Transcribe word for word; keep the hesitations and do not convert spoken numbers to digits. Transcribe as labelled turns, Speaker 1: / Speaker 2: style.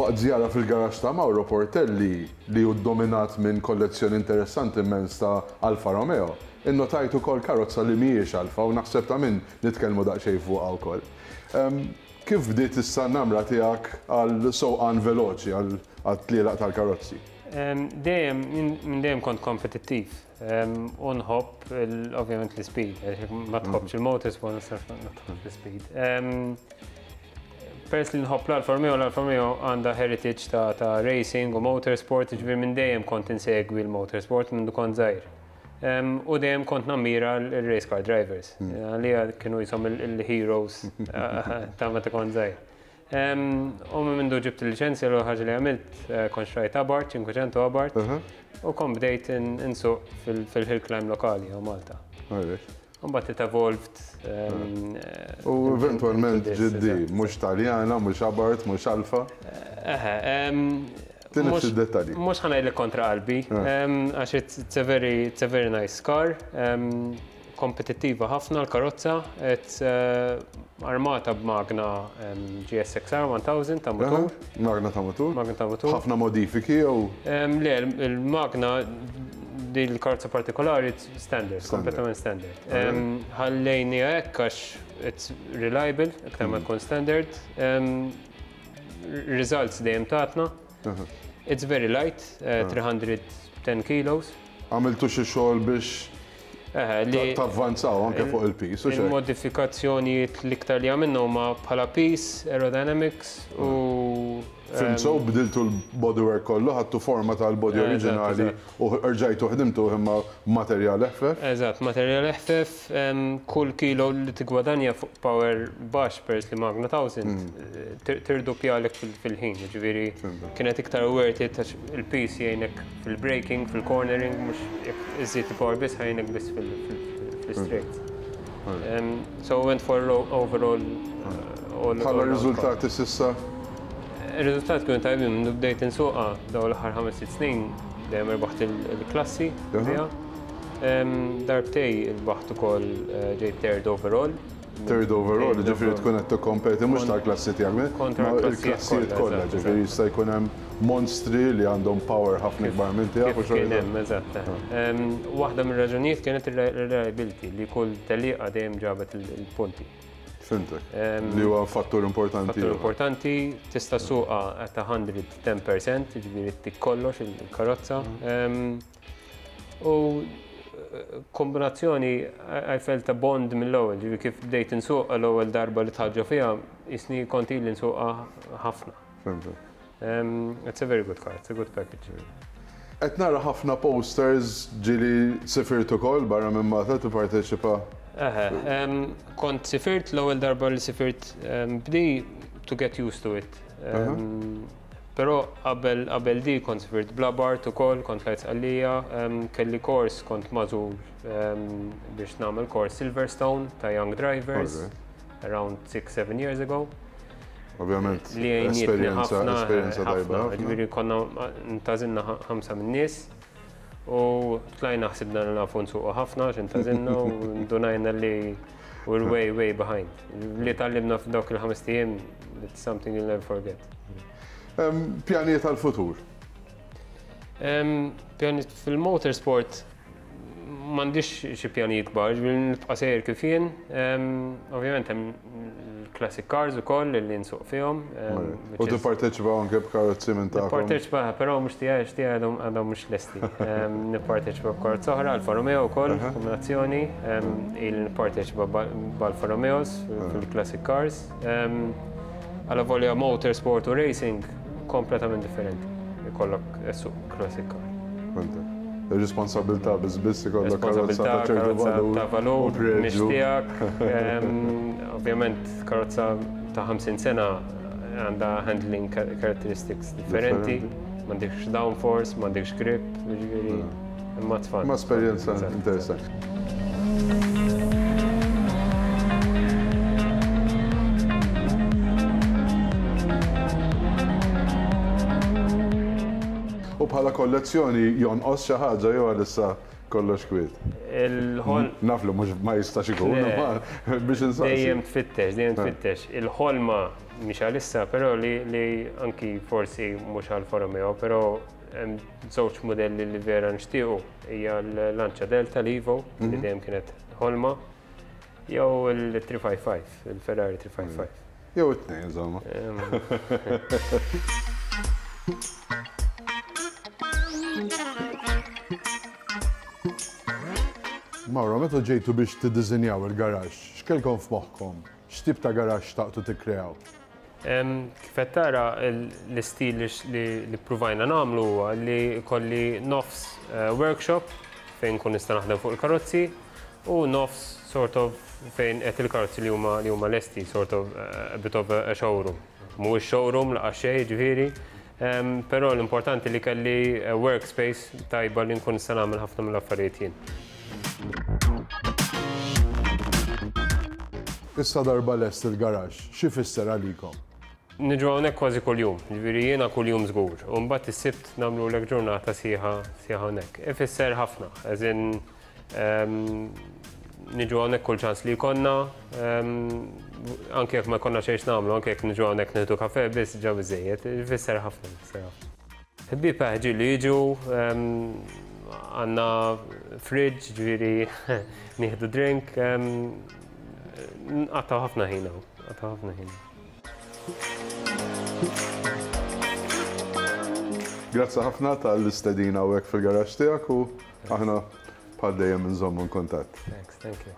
Speaker 1: Waqt żjara fil-garaxx ta' Mauro Portelli, li hu dominat minn kollezzjoni interessanti immens ta' Alfa Romeo, innotajt ukoll karozza li mhijiex Alfa u naħseb ta' min nitkellmu daqsxejn fuqha wkoll. Kif bdiet issa n-namra tiegħek għal sewqan veloċi, għal tlielaq tal-karozzi?
Speaker 2: Dejjem, minn dejjem kont kompetittiv. U nħobb ovvjament l-speed, ma tħobbx il-motorsport, ma tħobbx l-speed. Peress li nħobb l-Alfa Romeo, l-Alfa Romeo għandha heritage ta' racing u motorsport, ġifieri minn dejjem kont insegwi l-motorsport minn kont żgħir. U dejjem kont nammira l-race car drivers. Għalija kienu jisom il-heroes ta' meta kont żgħir. U minn mindu ġibt il-liċenzja, l ħaġa li għamilt, kont xtrajt Abarth, cinquecento Abarth, u kont bdejt insuq fil-hill climb lokali ġo Malta. Mbagħad it evolved.
Speaker 1: U eventualment ġiddi, mhux Taljana, mhux Abarth, mhux Alfa.
Speaker 2: Eħe.
Speaker 1: Tinif dettalji.
Speaker 2: Mhux ħa ngħidlek kontra qalbi, għax it's a very, it's a very nice car. Kompetittiva ħafna l-karozza, it's armata b'magna G S X R one thousand ta' motur.
Speaker 1: Magna ta' motur?
Speaker 2: Magna ta' motur.
Speaker 1: Ħafna modifiki jew?
Speaker 2: Le, il-magna di l-karozza partikolari standard, kompletament standard. Ħallejni hekk għax it's reliable, iktar ma tkun standard. Results dejjem tatna. It's very light, three hundred ten kilos.
Speaker 1: Għamiltu xi xogħol biex tavvanzaw anke fuq il-piż?
Speaker 2: Il-modifikazzjonijiet l-iktar li għamilna huma bħala piż, aerodynamics u
Speaker 1: Fhimt, so bdiltu l-bodywork kollu, ħadtu forma tal-body oriġinali u rġajtu ħdimtu imma materjal eħfef?
Speaker 2: Eżatt, materjal eħfef, kull kilo li tigwadanja fuq power baxx peress li magna one thousand tirdoppjalek fil-ħin, ġifieri kienet iktar worth it għax il-piż jgħinek fil-braking, fil-cornering, mhux jekk iżid il-power biss, ħa jgħinek biss fil-straight. So went for overall.
Speaker 1: Bħala riżultati s'issa?
Speaker 2: Il-riżultat kienu tajbin, minn bdejt insuqa daw l-aħħar ħames sitt snin, dejjem irbaħt il-klassi. Darbtejn irbaħt ukoll, ġejt third overall.
Speaker 1: Third overall, ġifieri tkun qed tikkompeti mhux tal-klassi tiegħek,
Speaker 2: kontra
Speaker 1: il-klassijiet kollha, ġifieri jista' jkun hemm monstri li għandhom power ħafna ikbar minn tiegħek.
Speaker 2: U kien hemm, eżatt. Waħda mir-raġunijiet kienet il-reliability, li kull tellieqa dejjem ġabet il-punti.
Speaker 1: Fhimtek. Li huwa fattur importanti.
Speaker 2: Fattur importanti, tista' ssuqha at one hundred ten percent, ġifieri tik kollox il-karozza. U kombinazzjoni, I felt a bond mill-ewwel, ġifieri kif bdejt insuqha l-ewwel darba li tħaġġa fiha, jisni kont ili nsuqha ħafna. It's a very good car, it's a good package.
Speaker 1: Qed nara ħafna posters, ġieli sifirt ukoll barra minn Malta tipparteċipa?
Speaker 2: Eħe, kont sifirt, l-ewwel darba li sifirt bdi to get used to it. Però qabel qabel di kont sifirt bl-Abarth ukoll, kont tlajt Sqallija, kelli kors, kont magħżul biex nagħmel kors Silverstone ta' Young Drivers around six seven years ago.
Speaker 1: Ovvjament,
Speaker 2: li
Speaker 1: esperjenza, esperjenza tajba.
Speaker 2: Ġifieri konna ntgħażilna ħamsa minn nies u tlajna, ħsibna li nafu nsuqu ħafna, x'intgħażilna, u ndunajna li we're way, way behind. Li tgħallimna f'dawk il-ħames ijiem, it's something you'll never forget.
Speaker 1: Pjanijiet għal-futur?
Speaker 2: Pjanijiet fil-motorsport, m'għandix xi pjanijiet kbar, ġifieri nibqa' sejjer kif jien. Ovvjament hemm classic cars ukoll li nsuq fihom.
Speaker 1: U tipparteċipa anke b'karozzi minn tagħkom?
Speaker 2: Nipparteċipa, però mhux tiegħi, tiegħi għadhom mhux lesti. Nipparteċipa b'karozza oħra, Alfa Romeo wkoll, kombinazzjoni. Il nipparteċipa b'Alfa Romeos fil-classic cars. Għala volja motorsport u racing kompletament differenti. Ikollok issuq classic car.
Speaker 1: Ir-responsabilità biss biss ikollok karozza
Speaker 2: ta'
Speaker 1: ċertu valur.
Speaker 2: Ta' valur, mhix tiegħek. Ovvjament karozza ta' ħamsin sena għandha handling characteristics differenti, m'għandekx downforce, m'għandekx grip, ġifieri imma tfal.
Speaker 1: Ma esperjenza interessanti. U bħala kollezzjoni jonqos xi ħaġa jew għalissa kollox kwiet?
Speaker 2: Il-ħol.
Speaker 1: Naf li mhux ma jistax ikun, biex insaqsi.
Speaker 2: Dejjem tfittex, dejjem tfittex. Il-ħolma mhix għalissa, però li, li anki forsi mhux Alfa Romeo, però hemm żewġ modelli li vera nixtiequ, hija l-Lancia Delta l-Evo, li dejjem kienet ħolma, jew il tlieta ħamsa ħamsa, il-Ferrari tlieta ħamsa ħamsa.
Speaker 1: Jew it-tnejn, insomma.
Speaker 2: Em,
Speaker 1: Mauro, meta ġejtu biex tiddiżinjaw il-garaxx, x'kelkom f'moħħkom? X'tip ta' garaxx xtaqtu tikkreaw?
Speaker 2: Em, Kif qed tara, l- l-istil li x- li li ppruvajna nagħmlu huwa li kolli nofs eh, workshop fejn kun nista' naħdem fuq il-karozzi u nofs sort of fejn qed il-karozzi li huma li huma lesti, sort of eh, a bit of a showroom. Mhuwiex showroom laqas xejn, ġifieri, em, però l-importanti li kelli eh, workspace tajba li nkun nista' nagħmel ħafna mill-affarijiet jien.
Speaker 1: Issa darba lest il-garaxx, xi fisser għalikom?
Speaker 2: Niġu hawnhekk kważi kuljum, ġifieri jiena kuljum żgur. U mbagħad is-Sibt nagħmlu lek ġurnata sħiħa sħiħa hawnhekk. Ifisser ħafna, as in em, niġu hawnhekk kull ċans li jkollna, em, anke jekk ma jkollna xejn nagħmlu, anke jekk niġu hawnhekk nieħdu kafe biss ġa biżejjed, ifisser ħafna, ifisser ħafna. Ħbieb ġieli jiġu, em, għandna fridge, ġifieri nieħdu drink, em, nqattgħu ħafna ħin hawn, nqattgħu ħafna ħin.
Speaker 1: Grazzi ħafna tal-istedina u fil-garaxx tiegħek u aħna bħal dejjem nżommu kuntatt.
Speaker 2: Thanks, thank you.